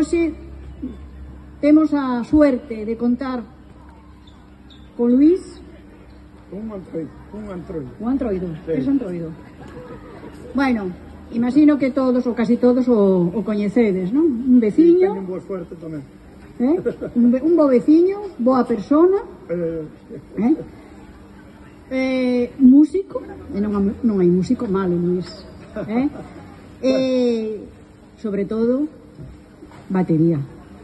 hoxe temos a suerte de contar con Luís. Un antroido. Un antroido, sí. Es antroido. Bueno, imagino que todos, ou casi todos, o coñecedes, non? Un veciño. Teñen boa suerte tamén. Un bo veciño, boa persona. Músico, e non hai músico malo, Luís. Sobre todo, batería.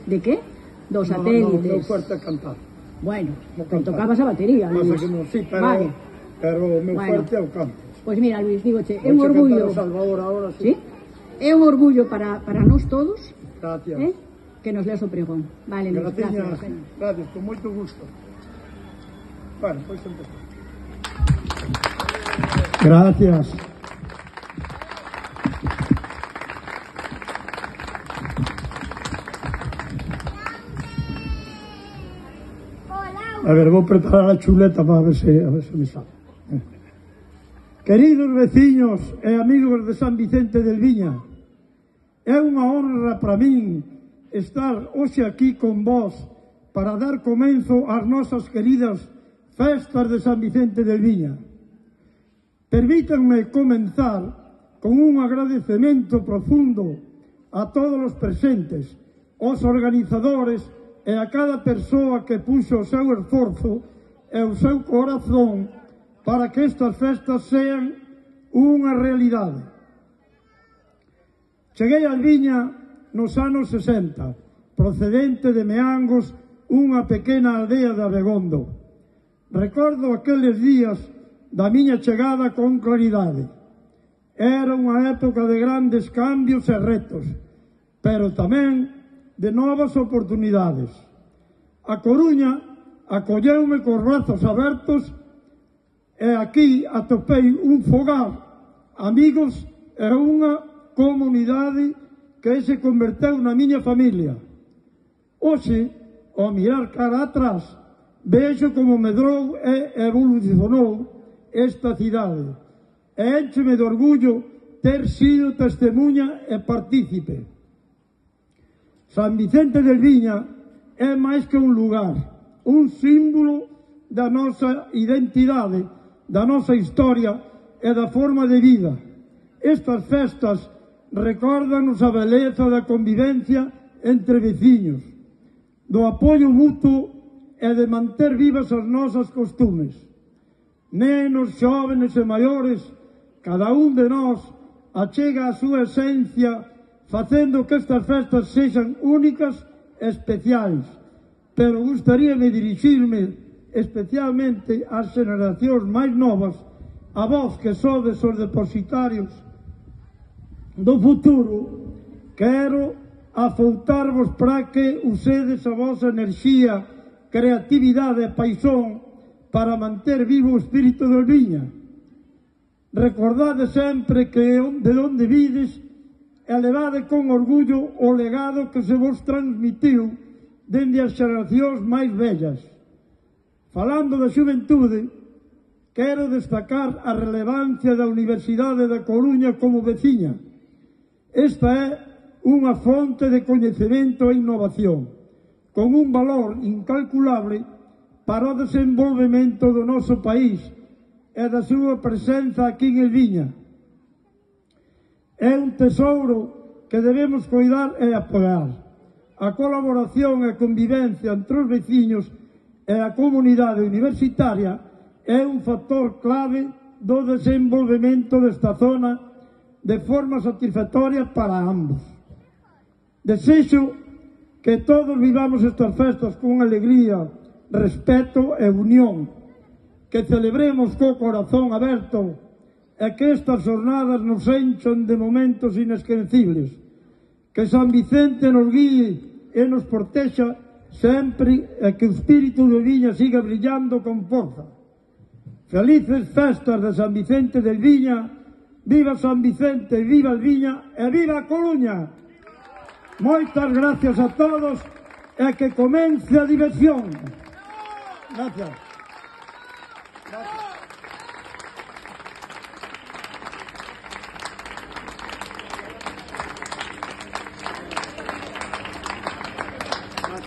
De que? Dos satélites. Non, fuerte a cantar. Bueno, tocabas a batería, Luís. Sí, pero o meu fuerte é o canto. Pois mira, Luís, dígoche, é un orgullo. Salvador ahora, sí. É un orgullo para nós todos. Gracias. Que nos leas o pregón. Vale, Luís, gracias. Gracias, con moito gusto. Bueno, pois empezar. Gracias. A ver, vou preparar a chuleta para ver se me sale. Queridos veciños e amigos de San Vicente del Viña, é unha honra para min estar hoxe aquí con vós para dar comenzo ás nosas queridas festas de San Vicente del Viña. Permítanme comenzar con un agradecemento profundo a todos os presentes, aos organizadores e a cada persoa que puxo o seu esforzo e o seu corazón para que estas festas sean unha realidade. Cheguei a Viña nos anos 60, procedente de Meangos, unha pequena aldea de Abegondo. Recordo aqueles días da miña chegada con claridade. Era unha época de grandes cambios e retos, pero tamén de novas oportunidades. A Coruña acolleume cos brazos abertos e aquí atopei un fogar, amigos e unha comunidade que se converteu na miña familia. Hoxe, ao mirar cara atrás, vexo como medrou e evolucionou esta cidade e éncheme de orgullo ter sido testemunha e partícipe. San Vicente del Viña é máis que un lugar, un símbolo da nosa identidade, da nosa historia e da forma de vida. Estas festas recórdanos a beleza da convivencia entre veciños, do apoio mutuo e de manter vivas as nosas costumes. Nenos, xóvenes e maiores, cada un de nós achega a súa esencia facendo que estas festas sexan únicas e especiais, pero gustaríame dirixirme especialmente ás generacións máis novas, a vós que sodes os depositarios do futuro. Quero afoutarvos para que usedes a vosa enerxía, creatividade e paixón para manter vivo o espírito del Viña. Recordade sempre que de onde vides e levade con orgullo o legado que se vos transmitiu dende as xeracións máis vellas. Falando da xuventude, quero destacar a relevancia da Universidade da Coruña como veciña. Esta é unha fonte de coñecemento e innovación, con un valor incalculable para o desenvolvemento do noso país e da súa presenza aquí en Viña. É un tesouro que debemos cuidar e apoiar. A colaboración e convivencia entre os veciños e a comunidade universitaria é un factor clave do desenvolvemento desta zona de forma satisfactoria para ambos. Desexo que todos vivamos estas festas con alegría, respeto e unión, que celebremos co corazón aberto e que estas jornadas nos enchan de momentos inesquecibles. Que San Vicente nos guíe e nos protexa sempre e que o espírito de Viña siga brillando con forza. Felices festas de San Vicente del Viña. Viva San Vicente, viva el Viña e viva a Coruña. Moitas gracias a todos e que comence a diversión. Gracias.